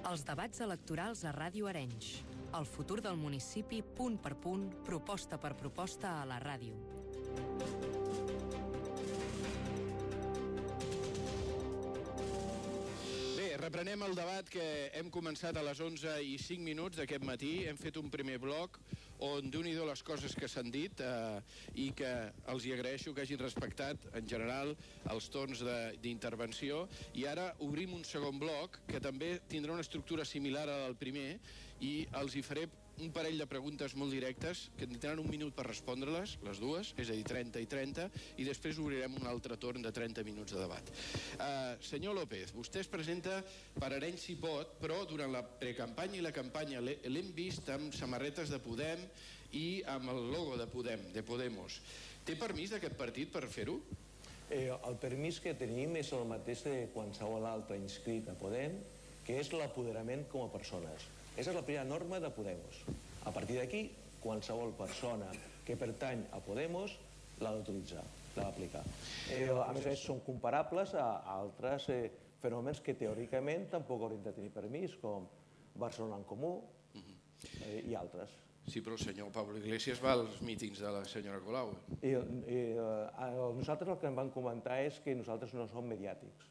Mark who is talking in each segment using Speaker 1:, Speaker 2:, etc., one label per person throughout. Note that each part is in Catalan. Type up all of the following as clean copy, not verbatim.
Speaker 1: Els debats electorals a Ràdio Arenys. El futur del municipi, punt per punt, proposta per proposta a la ràdio.
Speaker 2: Bé, reprenem el debat que hem començat a les 11:05 d'aquest matí. Hem fet un primer bloc on Déu-n'hi-do les coses que s'han dit i que els hi agraeixo que hagin respectat en general els torns d'intervenció, i ara obrim un segon bloc que també tindrà una estructura similar a la del primer i els hi faré un parell de preguntes molt directes que tindran un minut per respondre-les, les dues, és a dir, 30 i 30, i després obrirem un altre torn de 30 minuts de debat. Senyor López, vostè es presenta per Arenys si pot, però durant la precampanya i la campanya l'hem vist amb samarretes de Podem i amb el logo de Podem, de Podemos. Té permís d'aquest partit per fer-ho?
Speaker 3: El permís que tenim és el mateix de qualsevol altre inscrit a Podem, que és l'apoderament com a persones. Aquesta és la primera norma de Podemos. A partir d'aquí, qualsevol persona que pertany a Podemos l'ha d'utilitzar, l'ha d'aplicar. A més, són comparables a altres fenòmens que teòricament tampoc haurien de tenir permís, com Barcelona en Comú i altres.
Speaker 2: Sí, però el senyor Pablo Iglesias va als mítings de la senyora Colau.
Speaker 3: Nosaltres el que em van comentar és que nosaltres no som mediàtics.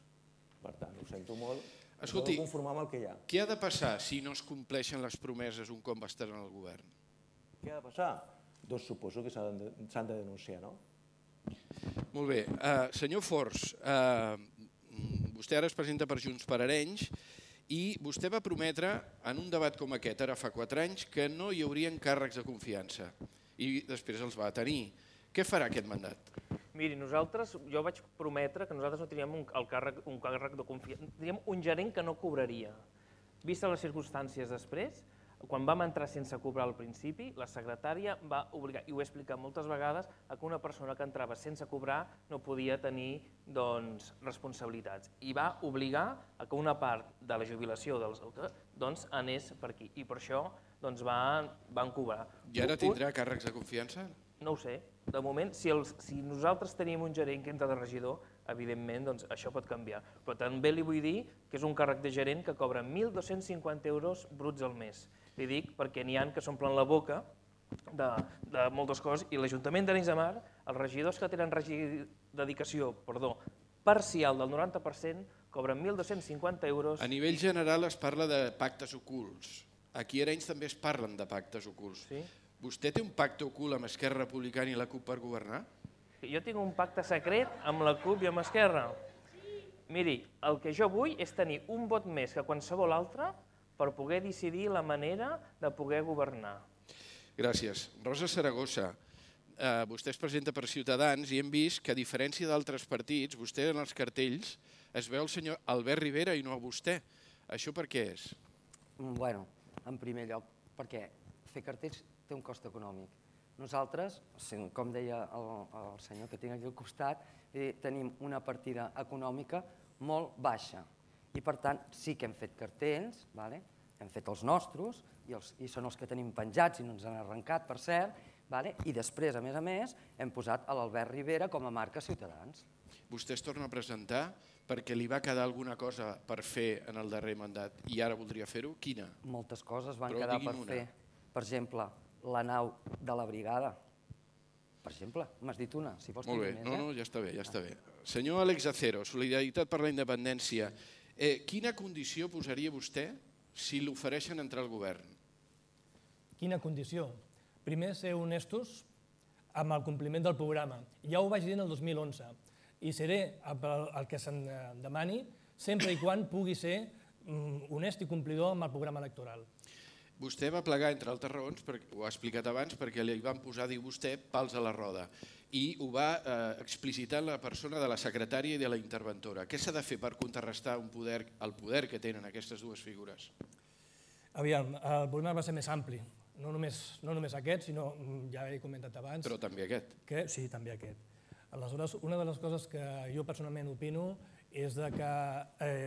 Speaker 3: Per tant, ho sento molt.
Speaker 2: Escolti,
Speaker 3: no conformar amb el que hi ha.
Speaker 2: Què ha de passar si no es compleixen les promeses un cop estan al govern?
Speaker 3: Què ha de passar? Doncs suposo que s'han de denunciar, no?
Speaker 2: Molt bé. Senyor Forns, vostè ara es presenta per Junts per Arenys i vostè va prometre en un debat com aquest, ara fa 4 anys, que no hi haurien càrrecs de confiança i després els va tenir. Què farà aquest mandat?
Speaker 4: Miri, jo vaig prometre que nosaltres no teníem un càrrec de confiança, teníem un gerent que no cobraria. Vistes les circumstàncies després, quan vam entrar sense cobrar al principi, la secretària va obligar, i ho he explicat moltes vegades, que una persona que entrava sense cobrar no podia tenir responsabilitats. I va obligar que una part de la jubilació dels anés per aquí. I per això van cobrar.
Speaker 2: I ara tindrà càrrecs de confiança?
Speaker 4: No ho sé. De moment, si nosaltres tenim un gerent que entra de regidor, evidentment això pot canviar. Però també li vull dir que és un càrrec de gerent que cobra 1.250 euros bruts al mes. Li dic perquè n'hi ha que s'omplen la boca de moltes coses i l'Ajuntament d'Arenys de Mar, els regidors que tenen dedicació parcial del 90%, cobren 1.250 euros.
Speaker 2: A nivell general es parla de pactes ocults. Aquí a Arenys també es parlen de pactes ocults.
Speaker 4: Sí?
Speaker 2: Vostè té un pacte ocult amb Esquerra Republicana i la CUP per governar?
Speaker 4: Jo tinc un pacte secret amb la CUP i amb Esquerra. Miri, el que jo vull és tenir un vot més que qualsevol altre per poder decidir la manera de poder governar.
Speaker 2: Gràcies. Rosa Saragossa, vostè es presenta per Ciutadans i hem vist que, a diferència d'altres partits, vostè en els cartells es veu el senyor Albert Rivera i no a vostè. Això per què és?
Speaker 5: Bueno, en primer lloc, perquè fer cartells té un cost econòmic. Nosaltres, com deia el senyor que tinc aquí al costat, tenim una partida econòmica molt baixa. I per tant, sí que hem fet cartells, hem fet els nostres, i són els que tenim penjats i no ens han arrencat, per cert, i després, a més, hem posat l'Albert Rivera com a marca Ciutadans.
Speaker 2: Vostè es torna a presentar perquè li va quedar alguna cosa per fer en el darrer mandat i ara voldria fer-ho? Quina?
Speaker 5: Moltes coses van quedar per fer. Per exemple, la nau de la brigada. Per exemple, m'has dit una, si vols
Speaker 2: dir més. Molt bé, ja està bé, ja està bé. Senyor Àlex Acero, Solidaritat per la Independència, quina condició posaria vostè si l'ofereixen entrar al govern?
Speaker 6: Quina condició? Primer, ser honestos amb el compliment del programa. Ja ho vaig dir en el 2011 i seré el que se'n demani sempre i quan pugui ser honest i complidor amb el programa electoral.
Speaker 2: Vostè va plegar, entre altres raons, ho ha explicat abans, perquè li van posar, diu vostè, pals a la roda. I ho va explicitar en la persona de la secretària i de la interventora. Què s'ha de fer per contrarrestar el poder que tenen aquestes dues figures?
Speaker 6: Aviam, el problema va ser més ampli. No només aquest, sinó, ja he comentat abans...
Speaker 2: Però també aquest.
Speaker 6: Sí, també aquest. Aleshores, una de les coses que jo personalment opino és que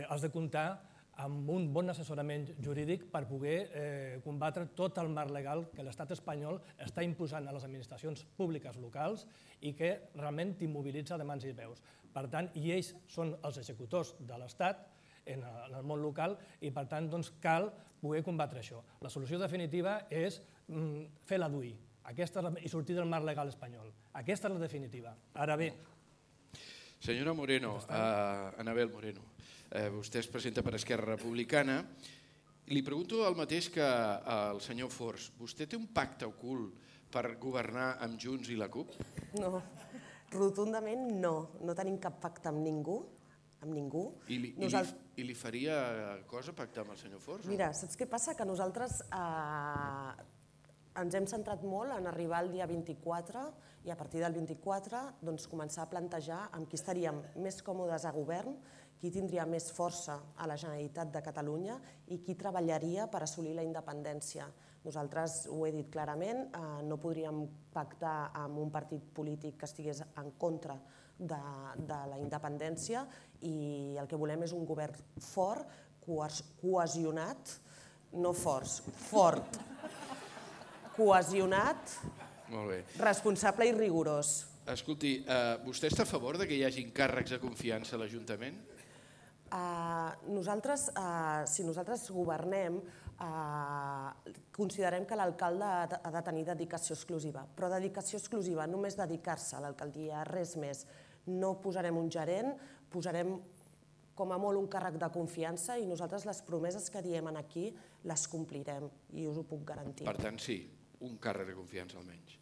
Speaker 6: has de comptar amb un bon assessorament jurídic per poder combatre tot el marc legal que l'estat espanyol està imposant a les administracions públiques locals i que realment t'immobilitza de mans i peus. Per tant, i ells són els executors de l'estat en el món local i, per tant, cal poder combatre això. La solució definitiva és fer la DUI i sortir del marc legal espanyol. Aquesta és la definitiva. Ara bé...
Speaker 2: Senyora Moreno, Anabel Moreno, vostè es presenta per Esquerra Republicana. Li pregunto el mateix que el senyor Forns. Vostè té un pacte ocult per governar amb Junts i la CUP?
Speaker 7: No, rotundament no. No tenim cap pacte amb ningú. Amb ningú.
Speaker 2: I li faria cosa pactar amb el senyor Forns?
Speaker 7: Mira, saps què passa? Que nosaltres ens hem centrat molt en arribar al dia 24 i a partir del 24 començar a plantejar amb qui estaríem més còmodes a govern, qui tindria més força a la Generalitat de Catalunya i qui treballaria per assolir la independència. Nosaltres ho he dit clarament, no podríem pactar amb un partit polític que estigués en contra de la independència i el que volem és un govern fort, cohesionat, no fort, cohesionat, responsable i rigorós.
Speaker 2: Escolti, vostè està a favor que hi hagi càrrecs de confiança a l'Ajuntament?
Speaker 7: Nosaltres, si nosaltres governem, considerem que l'alcalde ha de tenir dedicació exclusiva, però dedicació exclusiva, només dedicar-se a l'alcaldia, res més. No posarem un gerent, posarem com a molt un càrrec de confiança i nosaltres les promeses que diem aquí les complirem i us ho puc garantir.
Speaker 2: Per tant, sí, un càrrec de confiança almenys.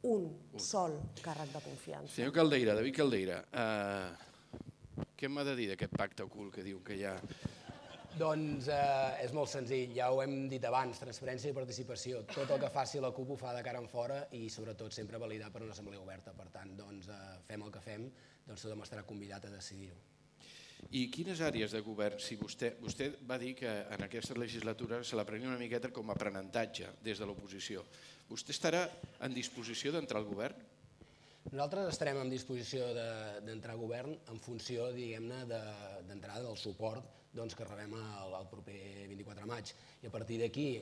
Speaker 7: Un sol càrrec de confiança.
Speaker 2: Senyor Caldeira, David Caldeira, què m'ha de dir d'aquest pacte ocult que diu que hi ha?
Speaker 8: Doncs és molt senzill, ja ho hem dit abans, transparència i participació. Tot el que faci la CUP ho fa de cara en fora i sobretot sempre validat per una assemblea oberta. Per tant, fem el que fem, tothom estarà convidat a decidir-ho.
Speaker 2: I quines àrees de govern, si vostè va dir que en aquesta legislatura se la prenia una miqueta com a aprenentatge des de l'oposició, vostè estarà en disposició d'entrar al govern?
Speaker 8: Nosaltres estarem en disposició d'entrar a govern en funció, diguem-ne, d'entrada del suport que rebem el proper 24 de maig. I a partir d'aquí,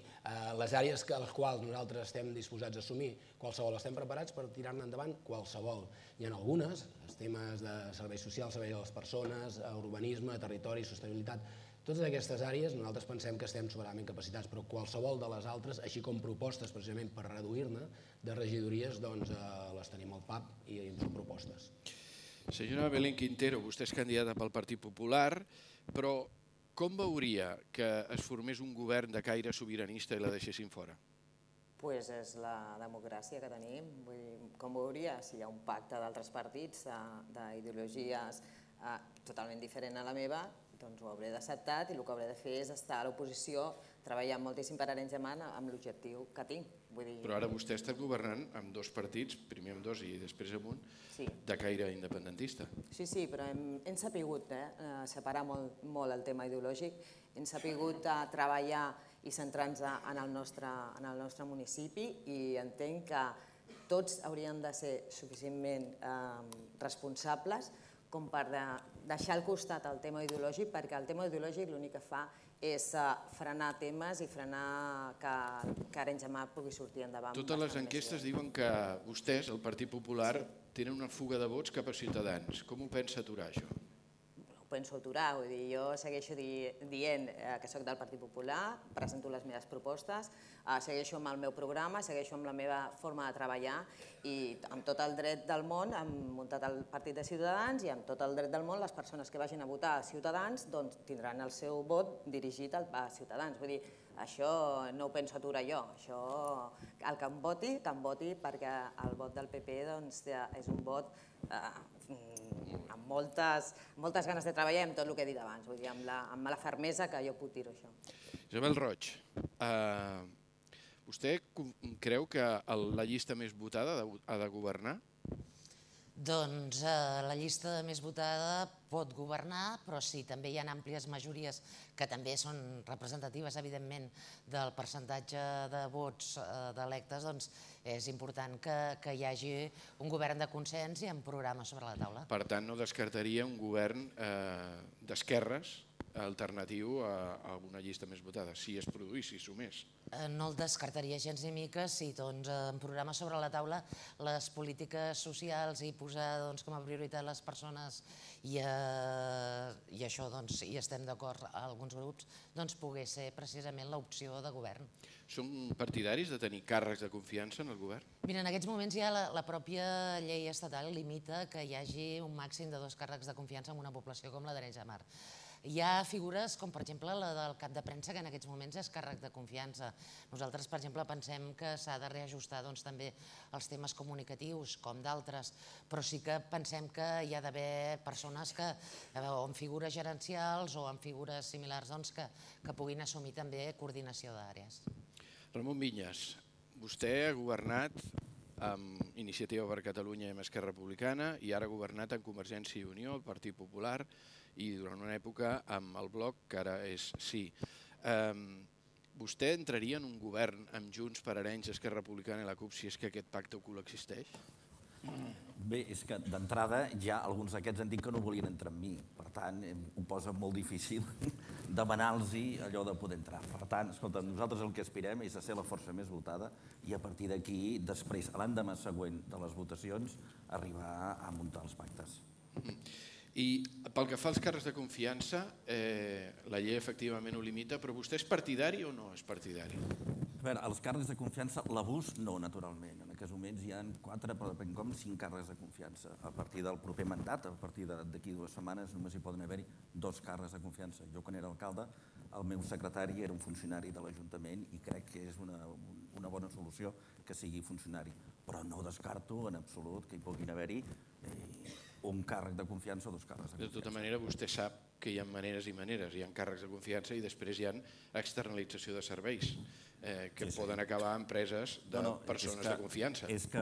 Speaker 8: les àrees a les quals nosaltres estem disposats a assumir, qualsevol estem preparats per tirar-ne endavant qualsevol. Hi ha algunes, els temes de serveis socials, servei a les persones, urbanisme, territori, sostenibilitat, totes aquestes àrees nosaltres pensem que estem sobradament capacitats, però qualsevol de les altres, així com propostes precisament per reduir-ne de regidories, les tenim al PAP i són propostes.
Speaker 2: Senyora Belén Quintero, vostè és candidata pel Partit Popular, però com veuria que es formés un govern de caire sobiranista i la deixessin fora?
Speaker 9: Doncs és la democràcia que tenim. Com veuria? Si hi ha un pacte d'altres partits, d'ideologies totalment diferent a la meva, doncs ho hauré d'acceptar i el que hauré de fer és estar a l'oposició treballant moltíssim per Arenys de Mar amb l'objectiu que tinc.
Speaker 2: Però ara vostè està governant amb dos partits, primer amb dos i després amb un, de caire independentista.
Speaker 9: Sí, però hem sapigut separar molt el tema ideològic, hem sapigut treballar i centrar-nos en el nostre municipi i entenc que tots haurien de ser suficientment responsables com per deixar al costat el tema ideològic, perquè el tema ideològic l'únic que fa és frenar temes i frenar que Arenys de Mar pugui sortir endavant.
Speaker 2: Totes les enquestes diuen que vostès, el Partit Popular, tenen una fuga de vots cap a Ciutadans. Com ho pensa aturar, això?
Speaker 9: Ho penso aturar, vull dir, jo segueixo dient que soc del Partit Popular, presento les meves propostes, segueixo amb el meu programa, segueixo amb la meva forma de treballar i amb tot el dret del món hem muntat el Partit de Ciutadans i amb tot el dret del món les persones que vagin a votar a Ciutadans tindran el seu vot dirigit a Ciutadans. Vull dir, això no ho penso aturar jo, això el que em voti perquè el vot del PP és un vot amb moltes ganes de treballar amb tot el que he dit abans, vull dir, amb la fermesa que jo puc dir-ho, això.
Speaker 2: Isabel Roig, vostè creu que la llista més votada ha de governar?
Speaker 10: Doncs la llista més votada pot governar, però sí, també hi ha àmplies majories que també són representatives, evidentment, del percentatge de vots d'electes, doncs és important que hi hagi un govern de consens i amb programes sobre la taula.
Speaker 2: Per tant, no descartaria un govern d'esquerres alternatiu a una llista més votada, si es produís, si sumés.
Speaker 10: No el descartaria gens ni mica si en programa sobre la taula les polítiques socials i posar com a prioritat les persones i això, hi estem d'acord alguns grups, pogués ser precisament l'opció de govern.
Speaker 2: Són partidaris de tenir càrrecs de confiança en el govern?
Speaker 10: Mira, en aquests moments ja la pròpia llei estatal limita que hi hagi un màxim de 2 càrrecs de confiança en una població com la d'Arenys de Mar. Hi ha figures com, per exemple, la del cap de premsa, que en aquests moments és càrrec de confiança. Nosaltres, per exemple, pensem que s'ha de reajustar també els temes comunicatius, com d'altres, però sí que pensem que hi ha d'haver persones que, o en figures gerencials o en figures similars, que puguin assumir també coordinació d'àrees.
Speaker 2: Ramon Vinyes, vostè ha governat amb Iniciativa per Catalunya i amb Esquerra Republicana i ara ha governat amb Convergència i Unió, el Partit Popular, i durant una època amb el Bloc, que ara és Sí. Vostè entraria en un govern amb Junts per Arenys, Esquerra Republicana i la CUP si és que aquest pacte ocult existeix?
Speaker 11: Bé, és que d'entrada ja alguns d'aquests han dit que no volien entrar amb mi. Per tant, ho posa molt difícil demanar-los allò de poder entrar. Per tant, escolta, nosaltres el que aspirem és a ser la força més votada i a partir d'aquí, després, l'endemà següent de les votacions, arribar a muntar els pactes.
Speaker 2: I pel que fa als càrrecs de confiança, la llei efectivament ho limita, però vostè és partidari o no és partidari?
Speaker 11: A veure, els càrrecs de confiança, l'abús no, naturalment. En aquests moments hi ha 4, però depèn com, 5 càrrecs de confiança. A partir del proper mandat, a partir d'aquí 2 setmanes, només hi poden haver-hi 2 càrrecs de confiança. Jo, quan era alcalde, el meu secretari era un funcionari de l'Ajuntament i crec que és una bona solució que sigui funcionari. Però no descarto en absolut que hi puguin haver-hi un càrrec de confiança o 2 càrrecs de confiança.
Speaker 2: De tota manera, vostè sap que hi ha maneres i maneres. Hi ha càrrecs de confiança i després hi ha externalització de serveis que poden acabar a empreses de persones de confiança.
Speaker 11: És que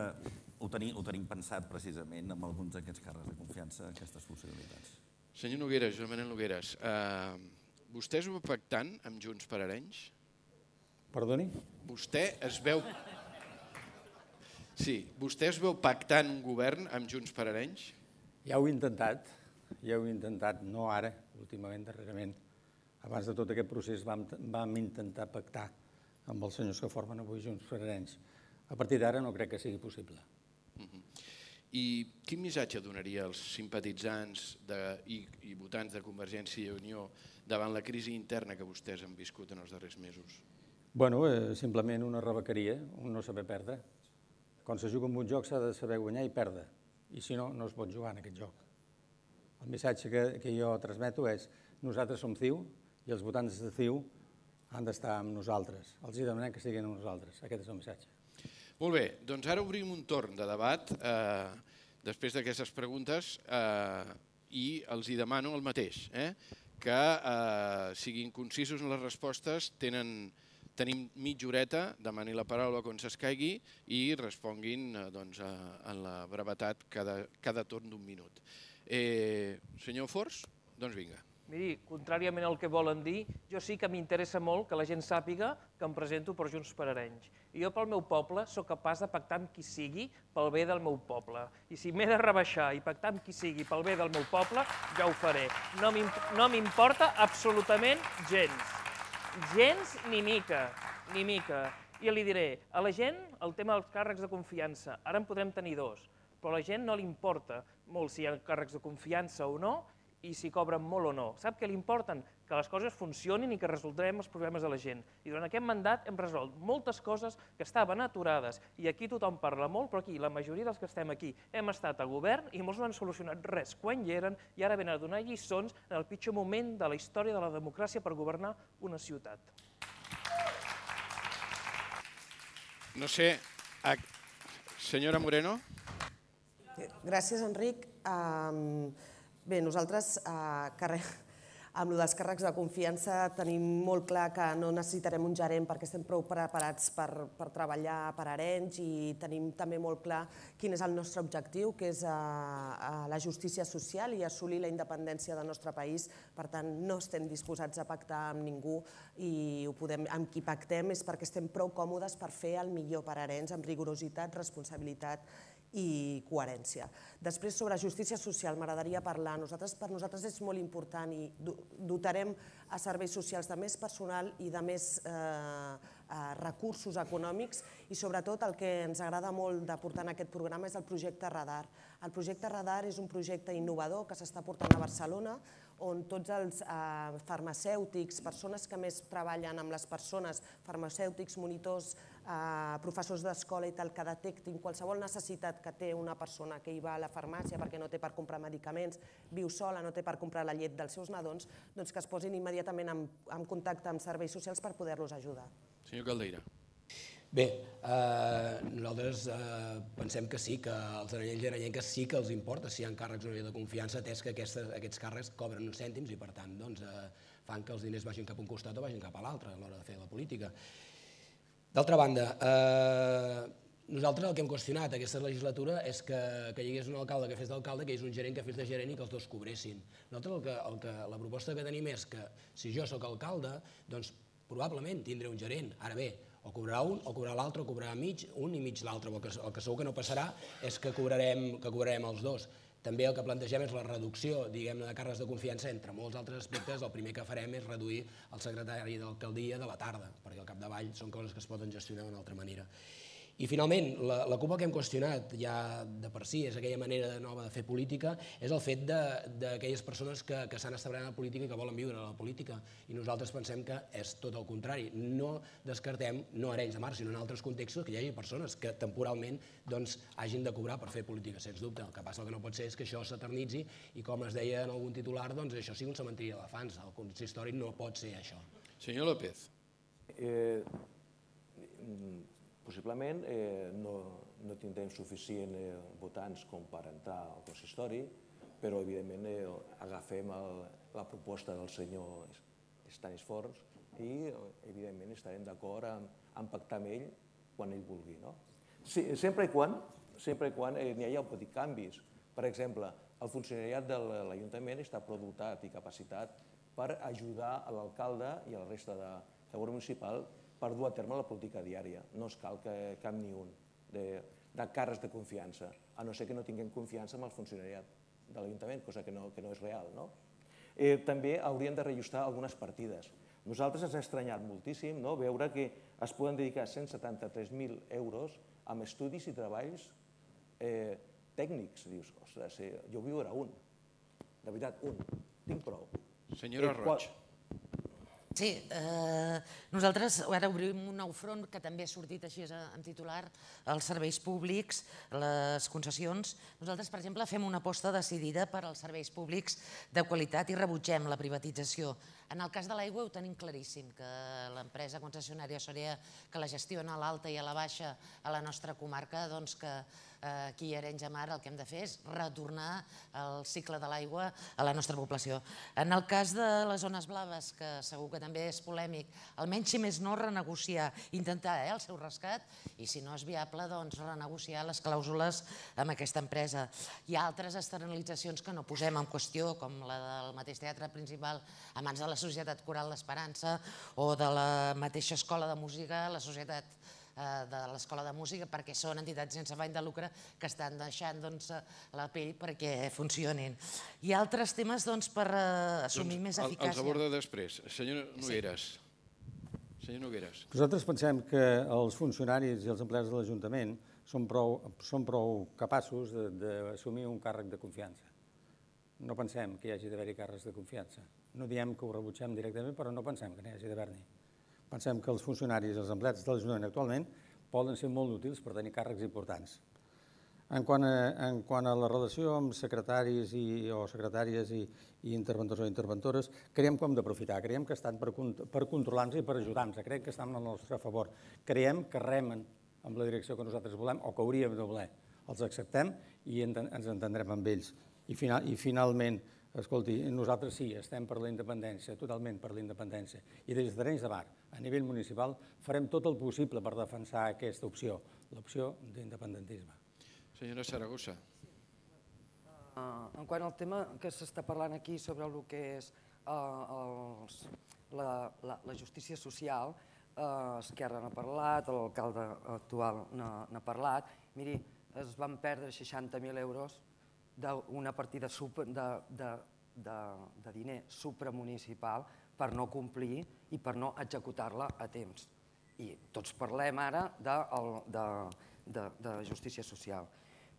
Speaker 11: ho tenim pensat precisament amb alguns d'aquests càrrecs de confiança, aquestes possibilitats.
Speaker 2: Senyor Nogueras, Joan Manel Nogueras, vostè es veu pactant amb Junts per Arenys?
Speaker 12: Perdoni?
Speaker 2: Vostè es veu... Sí, vostè es veu pactant un govern amb Junts per Arenys?
Speaker 12: Ja ho he intentat, no ara, últimament, darrerament. Abans de tot aquest procés vam intentar pactar amb els senyors que formen avui Junts per Arenys. A partir d'ara no crec que sigui possible.
Speaker 2: I quin missatge donaria als simpatitzants i votants de Convergència i Unió davant la crisi interna que vostès han viscut en els darrers mesos?
Speaker 12: Bueno, simplement una rebequeria, un no saber perdre. Quan se juga en un joc s'ha de saber guanyar i perdre. I si no, no es pot jugar en aquest joc. El missatge que jo transmeto és nosaltres som CiU i els votants de CiU han d'estar amb nosaltres. Els demanem que estiguin amb nosaltres. Aquest és el missatge.
Speaker 2: Molt bé, doncs ara obrim un torn de debat després d'aquestes preguntes i els hi demano el mateix, que siguin concisos en les respostes, tenim mitja horeta, demani la paraula quan s'escaigui i responguin en la brevetat cada torn d'1 minut. Senyor Fors, doncs vinga.
Speaker 4: Miri, contràriament al que volen dir, jo sí que m'interessa molt que la gent sàpiga que em presento per Junts per Arenys. I jo pel meu poble sóc capaç de pactar amb qui sigui pel bé del meu poble. I si m'he de rebaixar i pactar amb qui sigui pel bé del meu poble, ja ho faré. No m'importa absolutament gens. Gens ni mica, ni mica. I li diré, a la gent el tema dels càrrecs de confiança, ara en podrem tenir 2, però a la gent no li importa molt si hi ha càrrecs de confiança o no i si cobren molt o no. Sap què li importen? Que les coses funcionin i que resoldrem els problemes de la gent. I durant aquest mandat hem resolt moltes coses que estaven aturades i aquí tothom parla molt, però aquí la majoria dels que estem aquí hem estat a govern i molts no han solucionat res quan hi eren i ara venen a donar lliçons en el pitjor moment de la història de la democràcia per governar una ciutat.
Speaker 2: No sé, senyora Moreno?
Speaker 7: Gràcies, Enric. Bé, nosaltres amb els càrrecs de confiança tenim molt clar que no necessitarem un gerent perquè estem prou preparats per treballar per Arenys i tenim també molt clar quin és el nostre objectiu, que és la justícia social i assolir la independència del nostre país. Per tant, no estem disposats a pactar amb ningú i amb qui pactem és perquè estem prou còmodes per fer el millor per Arenys amb rigorositat, responsabilitat i coherència. Després, sobre justícia social, m'agradaria parlar. Per nosaltres és molt important i dotarem a serveis socials de més personal i de més recursos econòmics i sobretot el que ens agrada molt de portar en aquest programa és el projecte Radar. El projecte Radar és un projecte innovador que s'està portant a Barcelona on tots els farmacèutics, persones que més treballen amb les persones, farmacèutics, monitors, professors d'escola i tal, que detectin qualsevol necessitat que té una persona que hi va a la farmàcia perquè no té per comprar medicaments, viu sola, no té per comprar la llet dels seus nadons, doncs que es posin immediatament en contacte amb serveis socials per poder-los ajudar.
Speaker 2: Senyor Caldeira.
Speaker 8: Bé, nosaltres pensem que sí, que als aranyencs i aranyenques sí que els importa si hi ha càrrecs o no de confiança, atès que aquests càrrecs cobren uns cèntims i per tant fan que els diners vagin cap a un costat o vagin cap a l'altre a l'hora de fer la política. D'altra banda, nosaltres el que hem qüestionat aquesta legislatura és que hi hagués un alcalde que fes d'alcalde, que hi hagués un gerent que fes de gerent i que els dos cobressin. Nosaltres la proposta que tenim és que si jo sóc alcalde, doncs probablement tindré un gerent. Ara bé, o cobrarà un, o cobrarà l'altre, o cobrarà un i mig l'altre. El que segur que no passarà és que cobrarem els dos. També el que plantegem és la reducció, diguem-ne, de càrrecs de confiança entre molts altres aspectes. El primer que farem és reduir el secretari d'alcaldia de la tarda, perquè al capdavall són coses que es poden gestionar d'una altra manera. I finalment, la CUP el que hem qüestionat ja de per si és aquella manera nova de fer política, és el fet d'aquelles persones que s'han establert en la política i que volen viure a la política. I nosaltres pensem que és tot el contrari. No descartem, no a Arenys de Mar, sinó en altres contextos, que hi hagi persones que temporalment hagin de cobrar per fer política, sens dubte. El que passa que no pot ser és que això s'eternitzi i, com es deia en algun titular, doncs això sigui un cementiri d'elefants. El consistori no pot ser això.
Speaker 2: Senyor López.
Speaker 3: Possiblement no tindrem suficient votants com per entrar al consistori, però evidentment agafem la proposta del senyor Stanis Forns i evidentment estarem d'acord en pactar amb ell quan ell vulgui. Sempre i quan n'hi hagi petits canvis. Per exemple, el funcionariat de l'Ajuntament està prou dotat i capacitat per ajudar l'alcalde i a la resta de govern municipal per dur a terme la política diària. No es cal cap ni un de càrrecs de confiança, a no ser que no tinguem confiança en el funcionariat de l'Ajuntament, cosa que no és real. També haurien de reajustar algunes partides. Nosaltres ens ha estranyat moltíssim veure que es poden dedicar 173.000 euros a estudis i treballs tècnics. Dius, ostres, jo vull veure un. De veritat, un. Tinc prou.
Speaker 2: Senyora Roig.
Speaker 10: Sí, nosaltres ara obrim un nou front que també ha sortit així en titular, els serveis públics, les concessions. Nosaltres, per exemple, fem una aposta decidida per als serveis públics de qualitat i rebutgem la privatització. En el cas de l'aigua ho tenim claríssim, que l'empresa concessionària Sorea, que la gestiona a l'alta i a la baixa a la nostra comarca, doncs que aquí a Arenys de Mar el que hem de fer és retornar el cicle de l'aigua a la nostra població. En el cas de les zones blaves, que segur que també és polèmic, almenys si més no renegociar, intentar el seu rescat i si no és viable, doncs renegociar les clàusules amb aquesta empresa. Hi ha altres externalitzacions que no posem en qüestió, com la del mateix teatre principal a mans de la Societat Coral l'Esperança o de la mateixa escola de música, la Societat de l'Escola de Música, perquè són entitats sense afany de lucre que estan deixant la pell perquè funcionin. Hi ha altres temes per assumir més eficàcia.
Speaker 2: Els aborda després. Senyor Nogueras.
Speaker 12: Nosaltres pensem que els funcionaris i els empleats de l'Ajuntament són prou capaços d'assumir un càrrec de confiança. No pensem que hi hagi d'haver-hi càrrecs de confiança. No diem que ho rebutgem directament, però no pensem que n'hi hagi d'haver-n'hi. Pensem que els funcionaris i els empleats de l'Ajuntament actualment poden ser molt útils per tenir càrrecs importants. En quant a la relació amb secretaris o secretàries i interventors o interventores, creiem que hem d'aprofitar, creiem que estan per controlar-nos i per ajudar-nos, creiem que estan al nostre favor, creiem que remen amb la direcció que nosaltres volem o que hauríem de voler. Els acceptem i ens entendrem amb ells. I finalment, escolti, nosaltres sí, estem per la independència, totalment per la independència. I des d'Arenys de Mar, a nivell municipal, farem tot el possible per defensar aquesta opció, l'opció d'independentisme.
Speaker 2: Senyora Saragossa.
Speaker 5: En quant al tema que s'està parlant aquí sobre el que és la justícia social, Esquerra n'ha parlat, l'alcalde actual n'ha parlat. Miri, es van perdre 60.000 euros d'una partida de diner supramunicipal per no complir i per no executar-la a temps. I tots parlem ara de justícia social.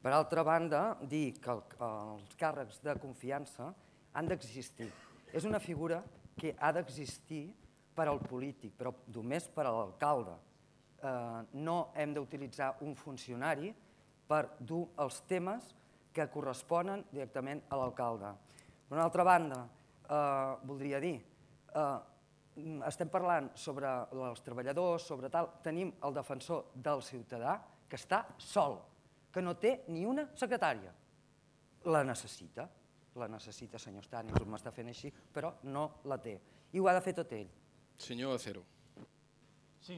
Speaker 5: Per altra banda, dir que els càrrecs de confiança han d'existir. És una figura que ha d'existir per al polític, però només per a l'alcalde. No hem d'utilitzar un funcionari per dur els temes que corresponen directament a l'alcalde. Per una altra banda, voldria dir, estem parlant sobre els treballadors, sobre tal, tenim el defensor del ciutadà que està sol, que no té ni una secretària. La necessita, senyor Stànils, m'està fent així, però no la té. I ho ha de fer tot ell.
Speaker 2: Senyor Acero.
Speaker 6: Sí,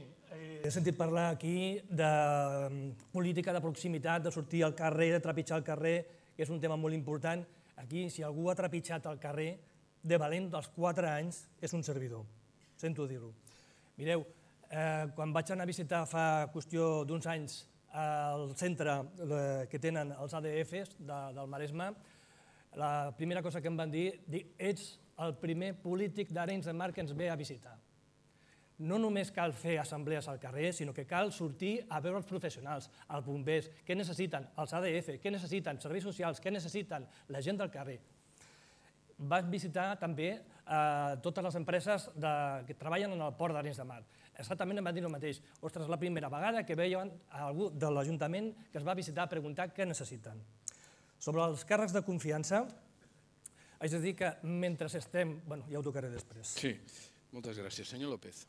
Speaker 6: he sentit parlar aquí de política de proximitat, de sortir al carrer, de trepitjar el carrer, que és un tema molt important. Aquí, si algú ha trepitjat el carrer, de valent dels 4 anys, és un servidor. Sento dir-ho. Mireu, quan vaig anar a visitar fa qüestió d'uns anys el centre que tenen els ADFs del Maresme, la primera cosa que em van dir, ets el primer polític d'Arenys de Mar que ens ve a visitar. No només cal fer assemblees al carrer, sinó que cal sortir a veure els professionals, els bombers, què necessiten els ADF, què necessiten serveis socials, què necessiten la gent del carrer. Vaig visitar també totes les empreses que treballen en el port d'Arenys de Mar. Exactament em van dir el mateix. Ostres, és la primera vegada que veien algú de l'Ajuntament que es va visitar a preguntar què necessiten. Sobre els càrrecs de confiança, haig de dir que mentre estem... Bueno, ja ho tocaré després.
Speaker 2: Sí, moltes gràcies. Senyor López.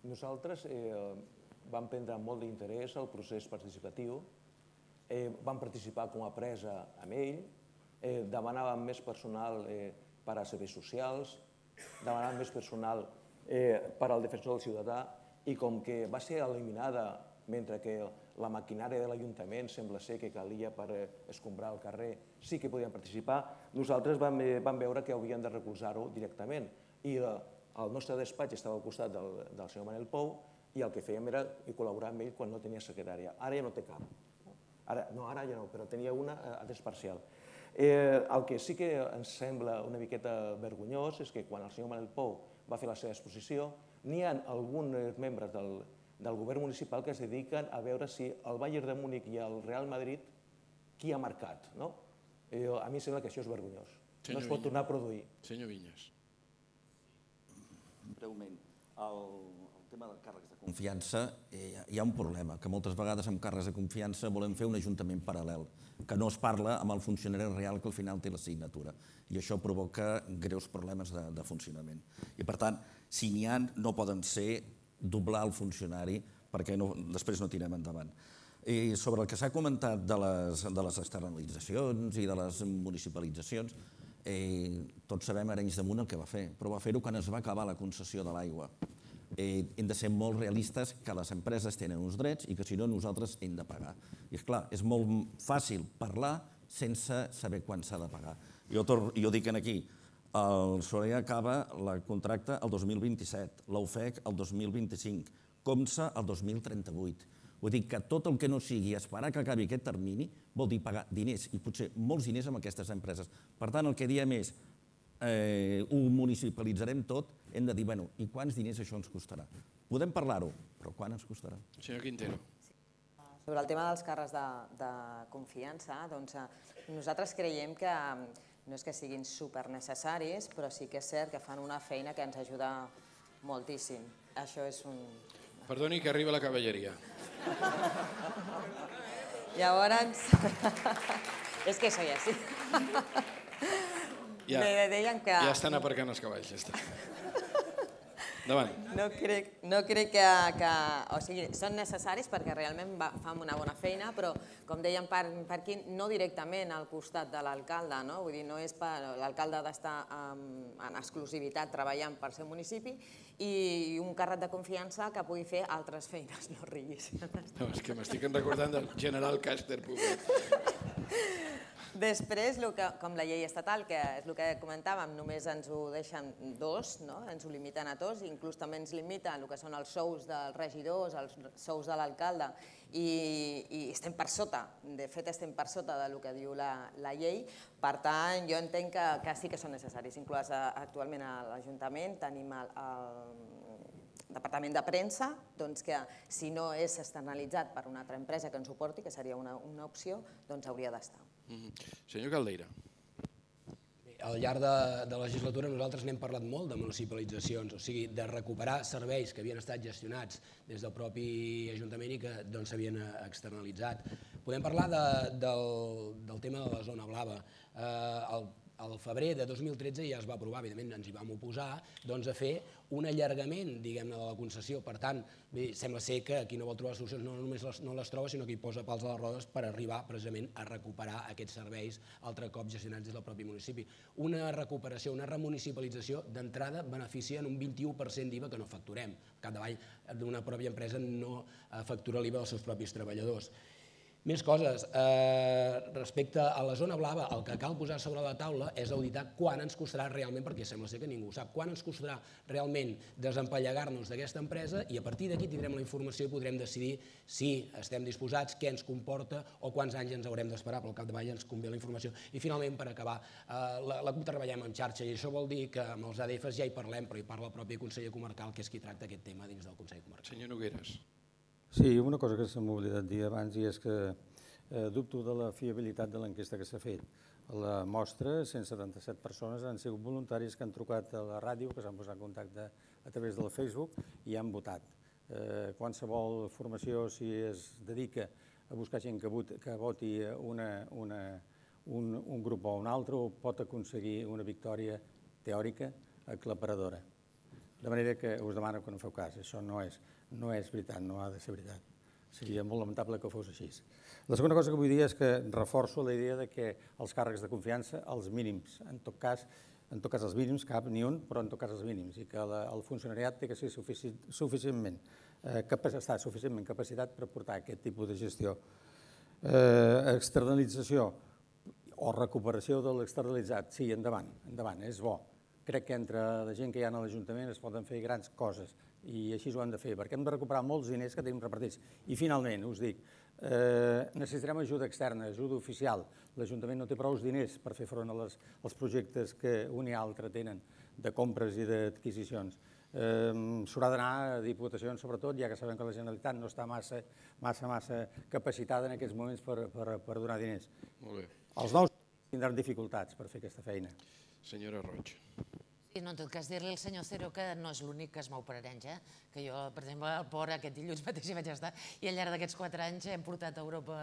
Speaker 3: Nosaltres vam prendre molt d'interès al procés participatiu, vam participar com a presa amb ell, demanàvem més personal per a serveis socials, demanàvem més personal per al defensor del ciutadà i com que va ser eliminada mentre que la maquinària de l'Ajuntament sembla ser que calia per escombrar el carrer, sí que podien participar, nosaltres vam veure que havíem de recolzar-ho directament i el nostre despatx estava al costat del senyor Manel Pou i el que fèiem era col·laborar amb ell quan no tenia secretària. Ara ja no té cap. No, ara ja no, però tenia una a temps parcial. El que sí que ens sembla una miqueta vergonyós és que quan el senyor Manel Pou va fer la seva exposició, n'hi ha alguns membres del govern municipal que es dediquen a veure si el Bayern de Múnich i el Real Madrid qui ha marcat. A mi em sembla que això és vergonyós. No es pot tornar a produir.
Speaker 2: Senyor Vinyes.
Speaker 11: Breument, el tema de càrrecs de confiança, hi ha un problema, que moltes vegades amb càrrecs de confiança volem fer un ajuntament paral·lel, que no es parla amb el funcionari real que al final té la signatura, i això provoca greus problemes de funcionament. I per tant, si n'hi ha, no poden ser doblar el funcionari perquè després no tirem endavant. I sobre el que s'ha comentat de les externalitzacions i de les municipalitzacions, tots sabem Arenys de Munt el que va fer, però va fer-ho quan es va acabar la concessió de l'aigua. Hem de ser molt realistes que les empreses tenen uns drets i que si no nosaltres hem de pagar. I és clar, és molt fàcil parlar sense saber quan s'ha de pagar. Jo dic aquí, el Soleà acaba el contracte el 2027, l'UFEC el 2025, Comsa el 2038. Vull dir que tot el que no sigui esperar que acabi aquest termini vol dir pagar diners, i potser molts diners amb aquestes empreses. Per tant, el que diem és, ho municipalitzarem tot, hem de dir, bueno, i quants diners això ens costarà? Podem parlar-ho, però quan ens costarà?
Speaker 2: Senyor Quintero.
Speaker 9: Sobre el tema dels càrrecs de confiança, doncs nosaltres creiem que no és que siguin supernecessaris, però sí que és cert que fan una feina que ens ajuda moltíssim. Això és un...
Speaker 2: Perdoni que arriba la cavalleria.
Speaker 9: Llavors... És que soy así.
Speaker 2: Ja estan aparcant els cavalls, ja està. Endavant.
Speaker 9: No crec que... O sigui, són necessaris perquè realment fan una bona feina, però, com dèiem per aquí, no directament al costat de l'alcalde, no? Vull dir, no és per... L'alcalde ha d'estar en exclusivitat treballant per ser municipi i un càrrec de confiança que pugui fer altres feines, no riguis.
Speaker 2: No, és que m'estic recordant del general Càster, pobret.
Speaker 9: Després, com la llei estatal, que és el que comentàvem, només ens ho deixen 2, ens ho limiten a 2, inclús també ens limiten el que són els sous dels regidors, els sous de l'alcalde, i estem per sota, de fet estem per sota del que diu la llei. Per tant, jo entenc que sí que són necessaris. Inclús actualment a l'Ajuntament tenim el departament de premsa, que si no és externalitzat per una altra empresa que ens suporti, que seria una opció, doncs hauria d'estar.
Speaker 2: Senyor Caldeira.
Speaker 8: Al llarg de la legislatura nosaltres n'hem parlat molt de municipalitzacions, o sigui, de recuperar serveis que havien estat gestionats des del propi Ajuntament i que s'havien externalitzat. Podem parlar del tema de la zona blava. Al febrer de 2013 ja es va aprovar, evidentment ens hi vam oposar, a fer un allargament, diguem-ne, de la concessió. Per tant, sembla ser que qui no vol trobar solucions no només no les troba, sinó que hi posa pals a les rodes per arribar precisament a recuperar aquests serveis altre cop gestionats des del propi municipi. Una recuperació, una remunicipalització d'entrada beneficia en un 21% d'IVA que no facturem. Al capdavall d'una pròpia empresa no factura l'IVA dels seus propis treballadors. Més coses. Respecte a la zona blava, el que cal posar sobre la taula és auditar quan ens costarà realment, perquè sembla ser que ningú ho sap, quan ens costarà realment desempallegar-nos d'aquesta empresa, i a partir d'aquí tindrem la informació i podrem decidir si estem disposats, què ens comporta o quants anys ens haurem d'esperar, però al capdavall ens convé la informació. I finalment, per acabar, la CUP treballem en xarxa i això vol dir que amb els ADFs ja hi parlem, però hi parla el propi conseller comarcal, que és qui tracta aquest tema dins del Consell Comarcal.
Speaker 2: Senyor Nogueras.
Speaker 12: Sí, una cosa que se m'ha oblidat dir abans i és que dubto de la fiabilitat de l'enquesta que s'ha fet. A la mostra, 177 persones han sigut voluntaris que han trucat a la ràdio, que s'han posat en contacte a través del Facebook i han votat. Qualsevol formació, si es dedica a buscar gent que voti un grup o un altre, pot aconseguir una victòria teòrica aclaparadora. De manera que us demano que no feu cas, això no és veritat, no ha de ser veritat. Seria molt lamentable que fos així. La segona cosa que vull dir és que reforço la idea que els càrrecs de confiança, els mínims, en tot cas els mínims, cap ni un, però en tot cas els mínims, i que el funcionariat té que ser suficientment capacitat per portar aquest tipus de gestió. Externalització o recuperació de l'externalitzat, sí, endavant, és bo. Crec que entre la gent que hi ha a l'Ajuntament es poden fer grans coses i així ho hem de fer, perquè hem de recuperar molts diners que tenim repartits. I finalment, us dic, necessitarem ajuda externa, ajuda oficial. L'Ajuntament no té prou diners per fer front als projectes que un i altre tenen de compres i d'adquisicions. S'haurà d'anar a diputacions, sobretot, ja que sabem que la Generalitat no està massa capacitada en aquests moments per donar diners.
Speaker 2: Molt bé.
Speaker 12: Els nous tindran dificultats per fer aquesta feina.
Speaker 2: Senyora Roig.
Speaker 10: Sí, en tot cas, dir-li al senyor Cero que no és l'únic que es mou per Arenys, que jo, per exemple, al port aquest dilluns mateix hi vaig estar i al llarg d'aquests 4 anys hem portat a Europa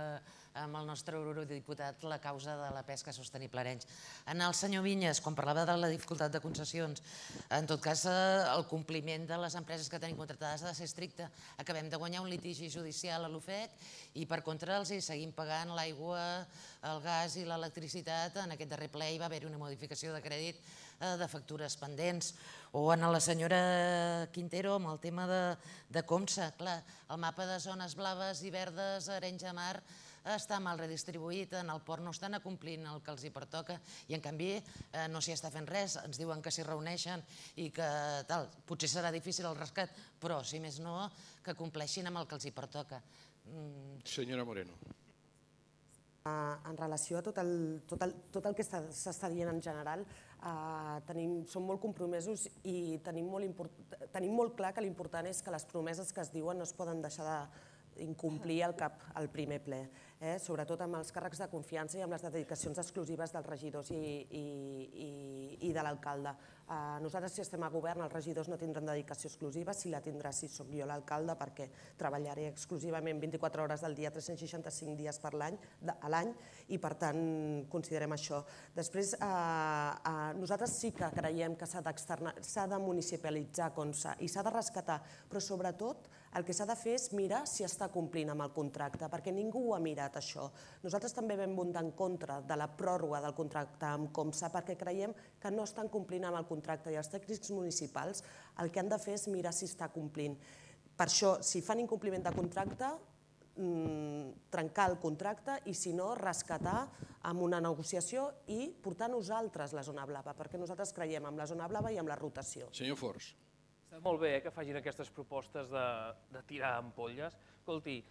Speaker 10: amb el nostre eurodiputat la causa de la pesca sostenible a Arenys. En el senyor Vinyes, quan parlava de la dificultat de concessions, en tot cas, el compliment de les empreses que tenim contractades ha de ser estricte. Acabem de guanyar un litigi judicial a l'UFEC i, per contra, els hi seguim pagant l'aigua, el gas i l'electricitat. En aquest darrer ple hi va haver-hi una modificació de crèdit de factures pendents. O en la senyora Quintero, amb el tema de Comsa. Clar, el mapa de zones blaves i verdes a Arenys de Mar està mal redistribuït, en el port no estan acomplint el que els hi pertoca i en canvi no s'hi està fent res, ens diuen que s'hi reuneixen i que tal, potser serà difícil el rescat, però si més no, que compleixin amb el que els hi pertoca.
Speaker 2: Senyora Moreno.
Speaker 7: En relació a tot el que s'està dient en general, som molt compromesos i tenim molt clar que l'important és que les promeses que es diuen no es poden deixar d'incomplir al primer ple, sobretot amb els càrrecs de confiança i amb les dedicacions exclusives dels regidors i de l'alcalde. Nosaltres, si estem a govern, els regidors no tindran dedicació exclusiva, si la tindrà si soc jo l'alcalde, perquè treballaré exclusivament 24 hores del dia, 365 dies a l'any, i per tant considerem això. Després, nosaltres sí que creiem que s'ha de municipalitzar i s'ha de rescatar, però sobretot el que s'ha de fer és mirar si està complint amb el contracte, perquè ningú ho ha mirat, això. Nosaltres també vam votar en contra de la pròrroga del contracte amb Comsa perquè creiem que no estan complint amb el contracte i els tècnics municipals el que han de fer és mirar si està complint. Per això, si fan incompliment de contracte, trencar el contracte i, si no, rescatar amb una negociació i portar nosaltres la zona blava, perquè nosaltres creiem en la zona blava i en la rotació.
Speaker 2: Senyor Forns.
Speaker 4: Està molt bé que facin aquestes propostes de tirar ampolles. Escolti,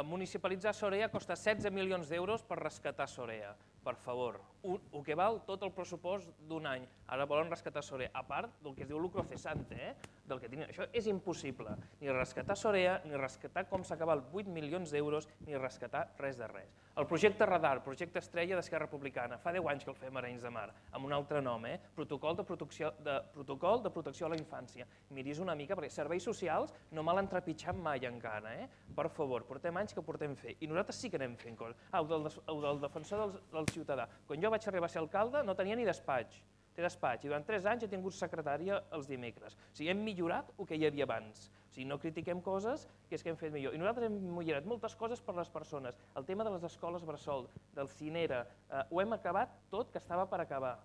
Speaker 4: municipalitzar Sorea costa 16 milions d'euros per rescatar Sorea. Per favor, el que val tot el pressupost d'un any. Ara volen rescatar Sorea, a part del que es diu lucro cesante, del que tenen. Això és impossible. Ni rescatar Sorea, ni rescatar com s'acaba els 8 milions d'euros, ni rescatar res de res. El projecte Radar, projecte Estrella d'Esquerra Republicana, fa 10 anys que el fem a Arenys de Mar, amb un altre nom, Protocol de protecció a la infància. Miris una mica, perquè serveis socials no me l'han trepitjat mai encara, Per favor, portem anys que portem fer. I nosaltres sí que anem fent coses. El del defensor del ciutadà. Quan jo vaig arribar a ser alcalde no tenia ni despatx. Té despatx i durant 3 anys he tingut secretària els dimecres. O sigui, hem millorat el que hi havia abans. O sigui, no critiquem coses que és que hem fet millor. I nosaltres hem millorat moltes coses per les persones. El tema de les escoles bressol, del Cinera, ho hem acabat tot que estava per acabar.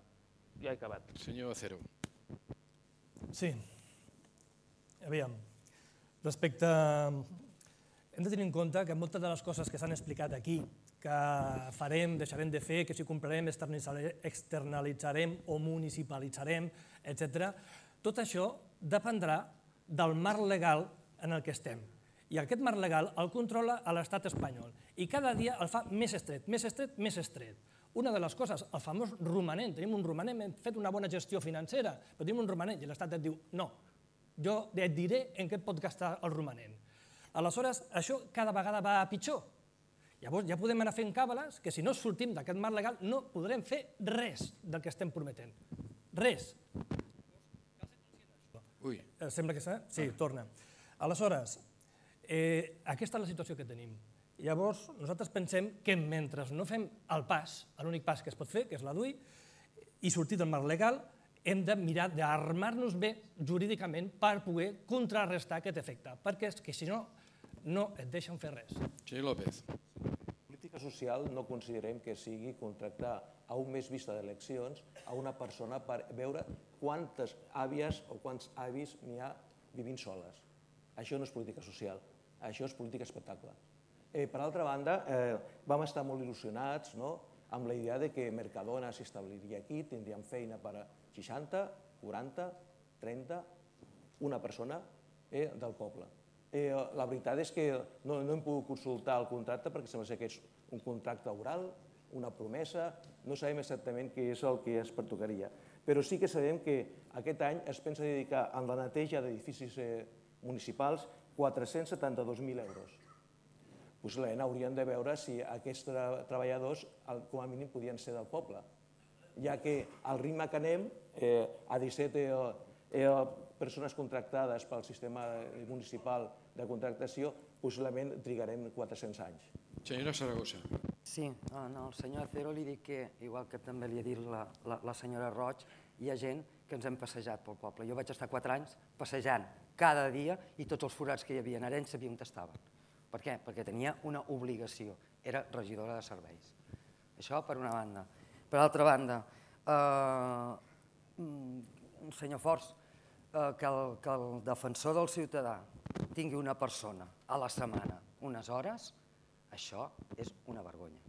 Speaker 4: Ja he acabat.
Speaker 2: Senyor Acero.
Speaker 6: Sí. Aviam. Respecte... Hem de tenir en compte que moltes de les coses que s'han explicat aquí, que farem, deixarem de fer, que si comprarem, externalitzarem o municipalitzarem, etc. Tot això dependrà del marc legal en el que estem. I aquest marc legal el controla l'estat espanyol. I cada dia el fa més estret, més estret, més estret. Una de les coses, el famós romanent, tenim un romanent, hem fet una bona gestió financera, però tenim un romanent i l'estat et diu no, jo et diré en què et pot gastar el romanent. Aleshores, això cada vegada va a pitjor. Llavors ja podem anar fent càbales que si no sortim d'aquest marc legal no podrem fer res del que estem prometent. Res.
Speaker 2: Ui.
Speaker 6: Sembla que sí, torna. Aleshores, aquesta és la situació que tenim. Llavors, nosaltres pensem que mentre no fem el pas, l'únic pas que es pot fer, que és la DUI, i sortir del marc legal, hem de mirar d'armar-nos bé jurídicament per poder contrarrestar aquest efecte, perquè és que si no, no et deixen fer res.
Speaker 2: Senyor López.
Speaker 3: Política social no considerem que sigui contractar a un mes vista d'eleccions a una persona per veure quantes àvies o quants avis n'hi ha vivint soles. Això no és política social, això és política espectacle. Per altra banda, vam estar molt il·lusionats amb la idea que Mercadona s'establiria aquí, tindríem feina per a 60, 40, 30, una persona del poble. La veritat és que no hem pogut consultar el contracte perquè sembla que és un contracte oral, una promesa, no sabem exactament què és el que es pertocaria. Però sí que sabem que aquest any es pensa dedicar a la neteja d'edificis municipals 472.000 euros. Possiblement hauríem de veure si aquests treballadors com a mínim podien ser del poble, ja que al ritme que anem, a 17 persones contractades pel sistema municipal de contractació, possiblement trigarem 400 anys.
Speaker 2: Senyora Saragossa.
Speaker 5: Sí, al senyor Acero li dic que, igual que també li ha dit la senyora Roig, hi ha gent que ens hem passejat pel poble. Jo vaig estar 4 anys passejant cada dia i tots els forats que hi havia en Arenys sabia on estaven. Per què? Perquè tenia una obligació, era regidora de serveis. Això per una banda. Per altra banda, senyor Forns, que el defensor del ciutadà tingui una persona a la setmana, unes hores, això és una vergonya.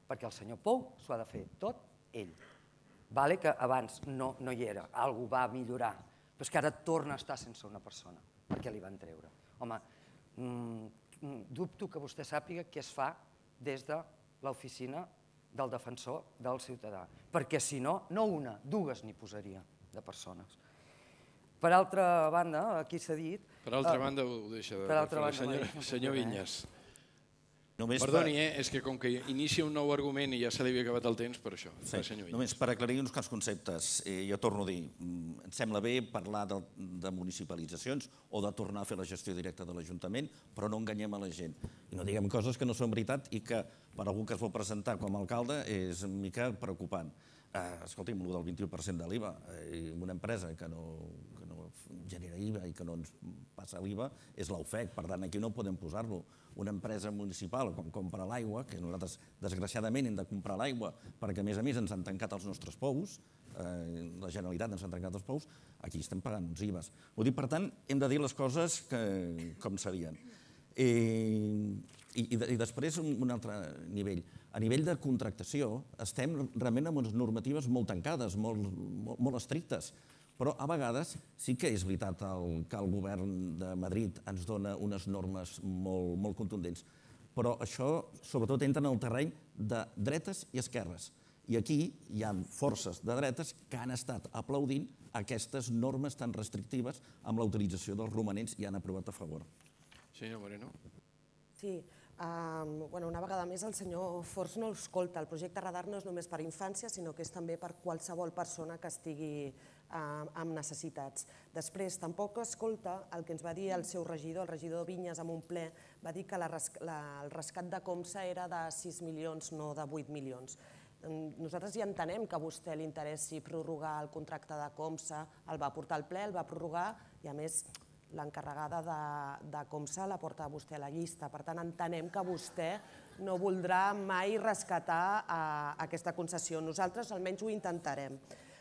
Speaker 5: Perquè el senyor Pou s'ho ha de fer tot ell. Vale que abans no hi era, alguna cosa va millorar, però és que ara torna a estar sense una persona. Per què li van treure? Home, dubto que vostè sàpiga què es fa des de l'oficina del defensor del ciutadà, perquè si no, no una, dues n'hi posaria de persones. Per altra banda, aquí s'ha dit...
Speaker 2: Per altra banda ho deixa de fer. Senyor Vinyes. Perdoni, és que com que inicia un nou argument i ja se li havia acabat el temps, per això.
Speaker 11: Només per aclarir uns quants conceptes. Jo torno a dir, em sembla bé parlar de municipalitzacions o de tornar a fer la gestió directa de l'Ajuntament, però no enganyem a la gent. I no diguem coses que no són veritat i que per algú que es vol presentar com a alcalde és una mica preocupant. Escolti'm, el del 21% de l'IVA, una empresa que no genera IVA i que no ens passa l'IVA és l'OFEC, per tant aquí no podem posar-lo. Una empresa municipal quan compra l'aigua, que nosaltres desgraciadament hem de comprar l'aigua perquè a més ens han tancat els nostres pous, la Generalitat ens ha tancat els pous, aquí estem pagant uns IVAs. Vull dir, per tant, hem de dir les coses com serien. I després un altre nivell. A nivell de contractació estem realment amb unes normatives molt tancades, molt estrictes, però a vegades sí que és veritat que el govern de Madrid ens dona unes normes molt contundents, però això sobretot entra en el terreny de dretes i esquerres. I aquí hi ha forces de dretes que han estat aplaudint aquestes normes tan restrictives amb la utilització dels romanents i han aprovat a favor.
Speaker 2: Senyor Moreno.
Speaker 7: Sí, una vegada més el senyor Forns no escolta. El projecte Radar no és només per infància, sinó que és també per qualsevol persona que estigui amb necessitats. Després, tampoc escolta el que ens va dir el seu regidor, el regidor Vinyes, en un ple, va dir que el rescat de Comsa era de 6 milions, no de 8 milions. Nosaltres ja entenem que a vostè li interessi prorrogar el contracte de Comsa, el va portar al ple, el va prorrogar i a més l'encarregada de Comsa la porta vostè a la llista. Per tant, entenem que vostè no voldrà mai rescatar aquesta concessió. Nosaltres almenys ho intentarem.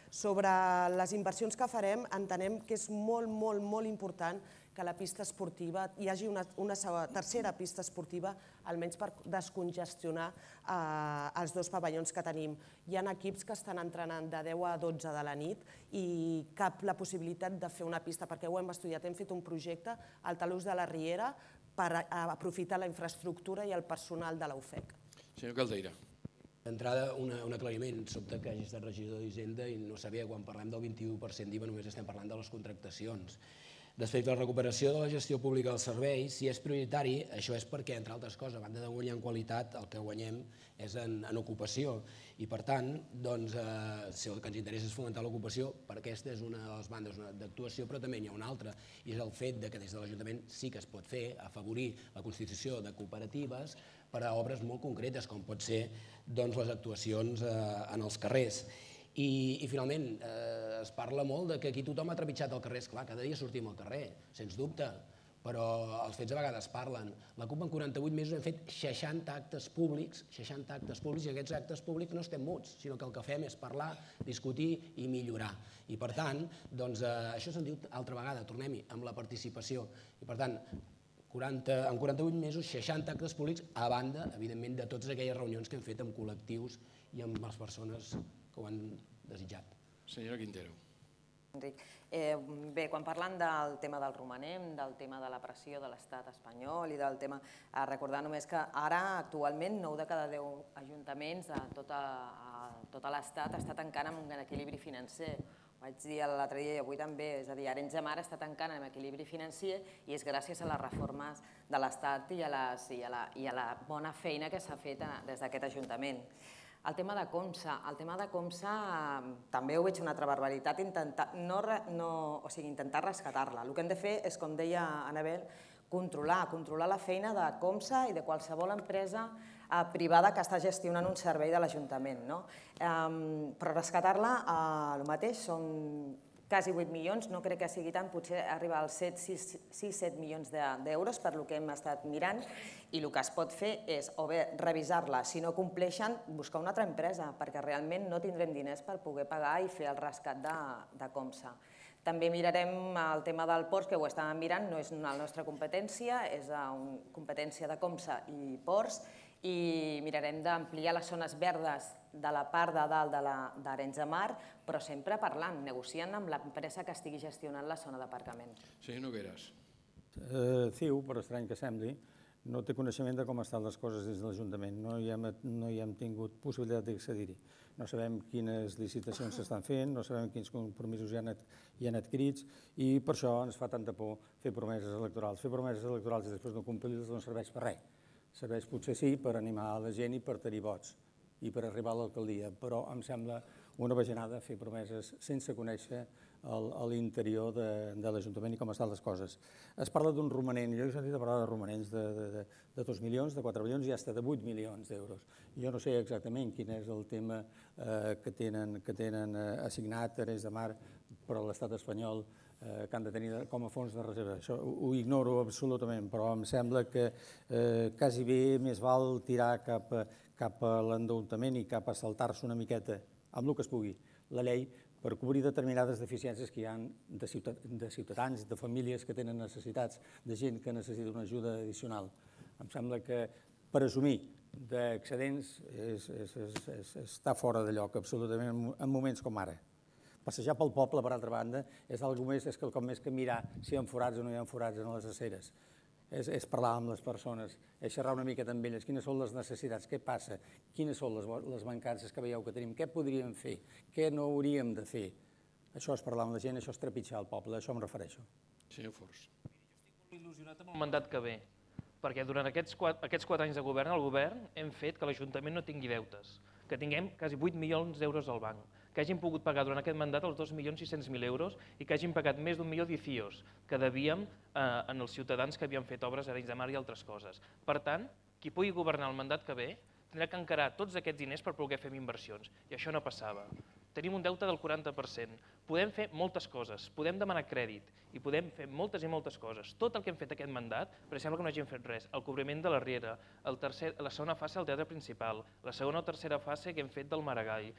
Speaker 7: Sobre les inversions que farem, entenem que és molt important que la pista esportiva hi hagi una tercera pista esportiva, almenys per descongestionar els dos pavellons que tenim. Hi ha equips que estan entrenant de 10 a 12 de la nit i cap la possibilitat de fer una pista, perquè ho hem estudiat, hem fet un projecte al talús de la Riera per aprofitar la infraestructura i el personal de la UFEC.
Speaker 2: Senyor Caldeira.
Speaker 8: D'entrada, un aclariment. Sobta que hagi estat regidor d'Hisenda i no sabia que quan parlem del 21% d'IVA només estem parlant de les contractacions. Respecte a la recuperació de la gestió pública dels serveis, si és prioritari, això és perquè, entre altres coses, a banda de guanyar en qualitat, el que guanyem és en ocupació. I, per tant, si el que ens interessa és fomentar l'ocupació, per aquesta és una de les bandes d'actuació, però també n'hi ha una altra, i és el fet que des de l'Ajuntament sí que es pot fer, afavorir la constitució de cooperatives per a obres molt concretes, com pot ser les actuacions en els carrers. I finalment, es parla molt que aquí tothom ha trepitjat el carrer. Esclar, cada dia sortim al carrer, sens dubte, però els fets a vegades parlen. La CUP en 48 mesos hem fet 60 actes públics, i aquests actes públics no estem muts, sinó que el que fem és parlar, discutir i millorar. I per tant, això se'n diu altra vegada, tornem-hi, amb la participació. I per tant, en 48 mesos, 60 actes públics, a banda, evidentment, de totes aquelles reunions que hem fet amb col·lectius i amb les persones que ho han desitjat.
Speaker 2: Senyora Quintero.
Speaker 9: Bé, quan parlen del tema del romanent, del tema de la pressió de l'estat espanyol i del tema... Recordar només que ara, actualment, 9 de cada 10 ajuntaments de tot l'estat està tancant amb un equilibri financer. Ho vaig dir l'altre dia i avui també, és a dir, Arenys de Mar està tancant amb equilibri financer i és gràcies a les reformes de l'Estat i a la bona feina que s'ha fet des d'aquest Ajuntament. El tema de Comsa també ho veig una altra barbaritat, intentar rescatar-la. El que hem de fer és, com deia Anabel, controlar la feina de Comsa i de qualsevol empresa privada que està gestionant un servei de l'Ajuntament. Però rescatar-la, el mateix, són quasi 8 milions, no crec que sigui tant, potser arriba als 6-7 milions d'euros per el que hem estat mirant, i el que es pot fer és o bé revisar-la, si no compleixen, buscar una altra empresa, perquè realment no tindrem diners per poder pagar i fer el rescat de Comsa. També mirarem el tema del ports, que ho estàvem mirant, no és la nostra competència, és competència de Comsa i ports, i mirarem d'ampliar les zones verdes de la part de dalt d'Arenys de Mar, però sempre parlant, negociant amb l'empresa que estigui gestionant la zona d'aparcament.
Speaker 2: Senyor Nogueras.
Speaker 12: CiU, per estrany que sembli, no té coneixement de com estan les coses des de l'Ajuntament. No hi hem tingut possibilitat d'accedir-hi. No sabem quines licitacions s'estan fent, no sabem quins compromisos hi han adquirits i per això ens fa tanta por fer promeses electorals. Fer promeses electorals i després no complir-les no serveix per res. Serveix potser sí per animar la gent i per tenir vots i per arribar a l'alcaldia, però em sembla una bajanada fer promeses sense conèixer l'interior de l'Ajuntament i com estan les coses. Es parla d'un romanent, jo he sentit parlar de romanents de 2 milions, de 4 milions i fins de 8 milions d'euros. Jo no sé exactament quin és el tema que tenen assignat Arenys de Mar per a l'estat espanyol que han de tenir com a fons de reserva. Això ho ignoro absolutament, però em sembla que quasi bé més val tirar cap a l'endeutament i cap a saltar-se una miqueta, amb el que es pugui, la llei per cobrir determinades deficiències que hi ha de ciutadans, de famílies que tenen necessitats, de gent que necessita una ajuda addicional. Em sembla que presumir d'excedents està fora de lloc, absolutament, en moments com ara. Passejar pel poble, per altra banda, és quelcom més que mirar si hi ha forats o no hi ha forats en les aceres. És parlar amb les persones, és xerrar una mica amb elles, quines són les necessitats, què passa, quines són les mancances que veieu que tenim, què podríem fer, què no hauríem de fer. Això és parlar amb la gent, això és trepitjar el poble, a això em refereixo.
Speaker 2: Senyor Fors.
Speaker 4: Estic molt il·lusionat amb el mandat que ve, perquè durant aquests 4 anys de govern, el govern hem fet que l'Ajuntament no tingui deutes, que tinguem quasi 8 milions d'euros al banc, que hagin pogut pagar durant aquest mandat els 2.600.000 euros i que hagin pagat més d'1 milió d'ICIOs que devíem en els ciutadans que havien fet obres a Arenys de Mar i altres coses. Per tant, qui pugui governar el mandat que ve tindrà que encarar tots aquests diners per poder fer inversions, i això no passava. Tenim un deute del 40%, podem fer moltes coses, podem demanar crèdit i podem fer moltes i moltes coses. Tot el que hem fet aquest mandat, però sembla que no hagin fet res, el cobriment de la Riera, la segona fase del teatre principal, la segona o tercera fase que hem fet del Maragall.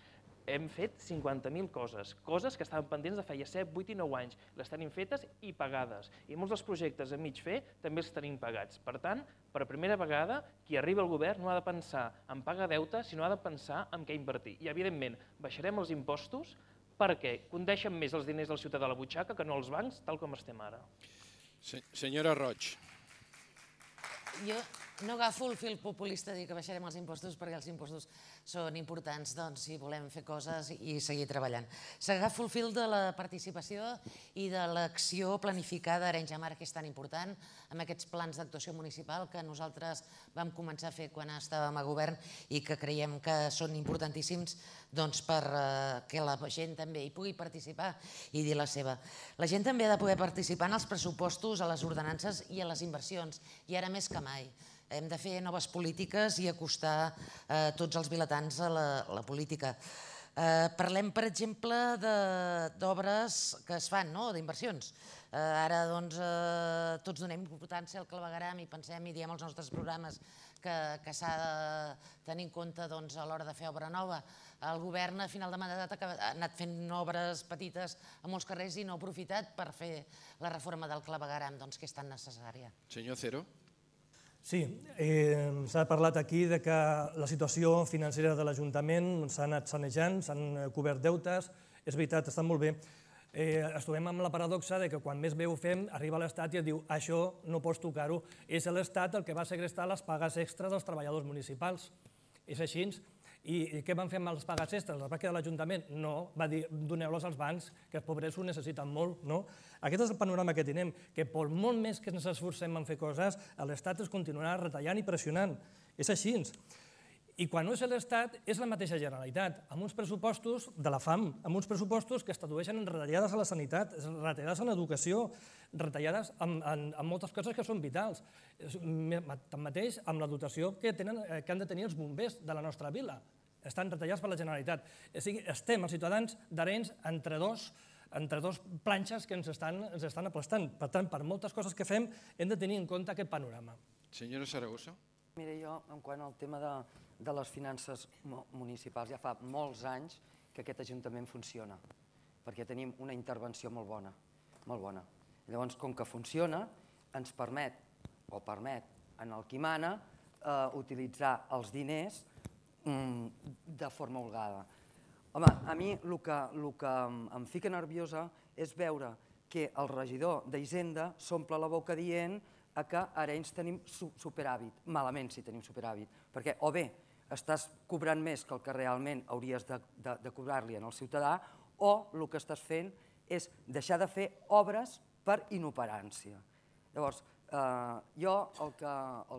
Speaker 4: Hem fet 50.000 coses que estaven pendents de feia 7, 8 i 9 anys. Les tenim fetes i pagades. I molts dels projectes a mig fer també els tenim pagats. Per tant, per primera vegada, qui arriba al govern no ha de pensar en pagar deute, sinó ha de pensar en què invertir. I, evidentment, baixarem els impostos perquè condeixen més els diners del ciutadà a la butxaca que no als bancs, tal com estem ara.
Speaker 2: Senyora Roig.
Speaker 10: Jo no agafo el fil populista de dir que baixarem els impostos perquè els impostos són importants si volem fer coses i seguir treballant. S'agafo el fil de la participació i de l'acció planificada a Arenys de Mar, que és tan important, amb aquests plans d'actuació municipal que nosaltres vam començar a fer quan estàvem a govern i que creiem que són importantíssims perquè la gent també hi pugui participar i dir la seva. La gent també ha de poder participar en els pressupostos, a les ordenances i a les inversions, i ara més que mai. Hem de fer noves polítiques i acostar tots els vilatans a la política. Parlem, per exemple, d'obres que es fan, d'inversions. Ara tots donem importància al clavegueram i pensem i diem als nostres programes que s'ha de tenir en compte a l'hora de fer obra nova. El govern a final de mandat ha anat fent obres petites a molts carrers i no ha aprofitat per fer la reforma del clavegueram, que és tan necessària.
Speaker 2: Senyor Cero.
Speaker 6: Sí, s'ha parlat aquí que la situació financera de l'Ajuntament s'ha anat sanejant, s'han cobert deutes, és veritat, està molt bé. Ens trobem amb la paradoxa que quan més bé ho fem, arriba l'Estat i et diu això no pots tocar-ho. És l'Estat el que va segrestar les pagues extres dels treballadors municipals. És així. I què van fer amb les pagues extres? Les va quedar l'Ajuntament? No, va dir doneu-les als bancs, que els pobres ho necessiten molt. Aquest és el panorama que tenim, que per molt més que ens esforcem en fer coses, l'Estat es continuarà retallant i pressionant. És així. I quan no és l'Estat, és la mateixa Generalitat, amb uns pressupostos de la fam, amb uns pressupostos que es tradueixen en retallades a la sanitat, retallades en l'educació, retallades en moltes coses que són vitals. Tanmateix, amb la dotació que han de tenir els bombers de la nostra vila. Estan retallats per la Generalitat. O sigui, estem, els ciutadans d'Arenys, entre dos planxes que ens estan aplastant. Per tant, per moltes coses que fem, hem de tenir en compte aquest panorama.
Speaker 2: Senyora Saragossa.
Speaker 5: Mira, jo, en quant al tema de les finances municipals, ja fa molts anys que aquest Ajuntament funciona, perquè tenim una intervenció molt bona, molt bona. Llavors, com que funciona, ens permet en el qui mana utilitzar els diners de forma holgada. Home, a mi el que em fica nerviosa és veure que el regidor d'Hisenda s'omple la boca dient que a Arenys tenim superàvit. Malament si tenim superàvit, perquè o bé estàs cobrant més que el que realment hauries de cobrar-li al ciutadà, o el que estàs fent és deixar de fer obres per inoperància. Llavors, jo el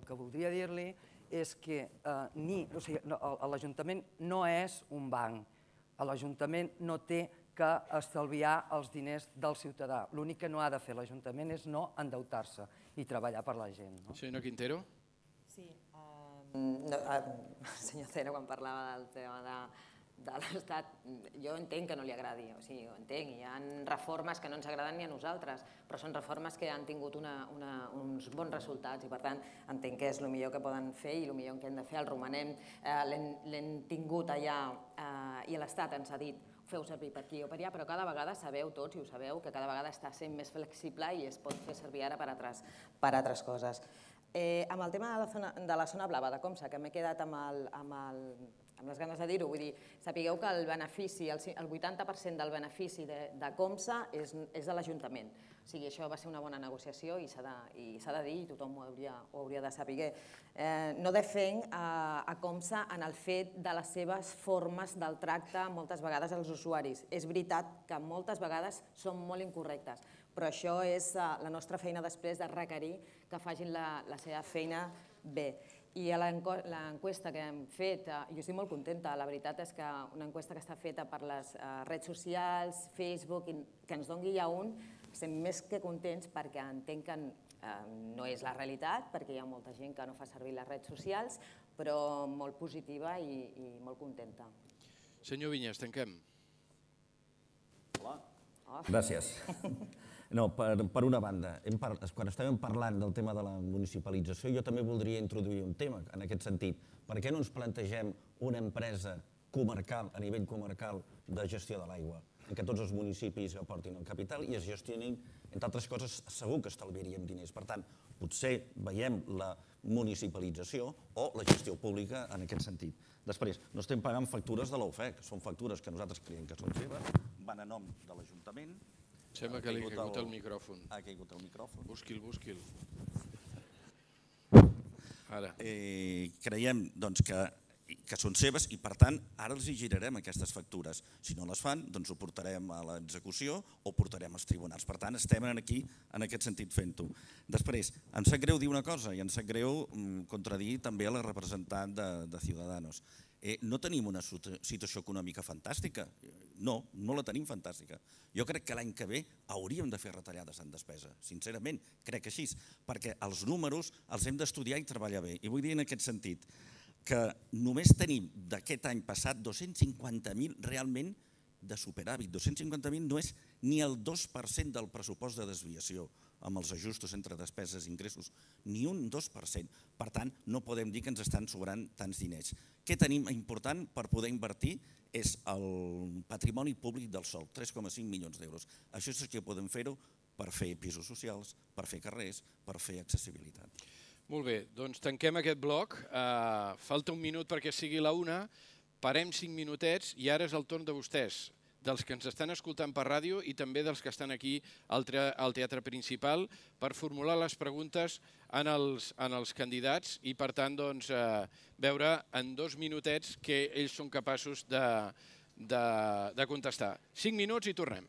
Speaker 5: que voldria dir-li és que l'Ajuntament no és un banc. L'Ajuntament no té que estalviar els diners del ciutadà. L'únic que no ha de fer l'Ajuntament és no endeutar-se i treballar per la gent.
Speaker 2: Senyor Quintero?
Speaker 9: Sí. Senyor Cero, quan parlava del tema de l'Estat, jo entenc que no li agradi, o sigui, ho entenc, hi ha reformes que no ens agraden ni a nosaltres, però són reformes que han tingut uns bons resultats i per tant entenc que és el millor que poden fer i el millor que hem de fer. El romanem l'hem tingut allà i l'Estat ens ha dit feu servir per aquí o per allà, però cada vegada sabeu tots, i ho sabeu, que cada vegada està sent més flexible i es pot fer servir ara per altres coses. Amb el tema de la zona blava de Comsa, que m'he quedat amb les ganes de dir-ho, vull dir, sapigueu que el benefici, el 80% del benefici de Comsa és de l'Ajuntament. O sigui, això va ser una bona negociació i s'ha de dir, i tothom ho hauria de saber. No defenc a Comsa en el fet de les seves formes del tracte moltes vegades als usuaris. És veritat que moltes vegades són molt incorrectes, però això és la nostra feina després de requerir que facin la seva feina bé. I a l'enquesta que hem fet, jo estic molt contenta, la veritat és que una enquesta que està feta per les redes socials, Facebook, que ens doni ja estem més que contents perquè entenc que no és la realitat, perquè hi ha molta gent que no fa servir les redes socials, però molt positiva i molt contenta.
Speaker 2: Senyor Vinyes, tanquem.
Speaker 11: Hola. Gràcies. No, per una banda, quan estàvem parlant del tema de la municipalització, jo també voldria introduir un tema en aquest sentit. Per què no ens plantegem una empresa comarcal, a nivell comarcal, de gestió de l'aigua, en què tots els municipis aportin el capital i es gestionin, entre altres coses, segur que estalviaríem diners. Per tant, potser veiem la municipalització o la gestió pública en aquest sentit. Després, no estem pagant factures de l'OFEC, són factures que nosaltres creiem que són seves, van a nom de l'Ajuntament.
Speaker 2: Sembla que li ha caigut el micròfon.
Speaker 11: Ha caigut el micròfon.
Speaker 2: Busqui'l. Ara.
Speaker 11: Creiem que són seves i, per tant, ara els hi girarem aquestes factures. Si no les fan, doncs ho portarem a l'execució o portarem als tribunals. Per tant, estem aquí, en aquest sentit, fent-ho. Després, em sap greu dir una cosa i em sap greu contradir també a la representant de Ciudadanos. No tenim una situació econòmica fantàstica. No la tenim fantàstica. Jo crec que l'any que ve hauríem de fer retallades en despesa. Sincerament, crec així, perquè els números els hem d'estudiar i treballar bé. I vull dir en aquest sentit que només tenim d'aquest any passat 250.000 realment de superàvit. 250.000 no és ni el 2% del pressupost de desviació amb els ajustos entre despeses i ingressos, ni un 2%. Per tant, no podem dir que ens estan sobrant tants diners. Què tenim important per poder invertir? És el patrimoni públic del sòl, 3,5 milions d'euros. Això és que podem fer-ho per fer pisos socials, per fer carrers, per fer accessibilitat.
Speaker 2: Molt bé, doncs tanquem aquest bloc. Falta un minut perquè sigui la 1, parem 5 minutets i ara és el torn de vostès, dels que ens estan escoltant per ràdio i també dels que estan aquí al teatre principal per formular les preguntes en els candidats i, per tant, veure en 2 minutets que ells són capaços de contestar. 5 minuts i tornem.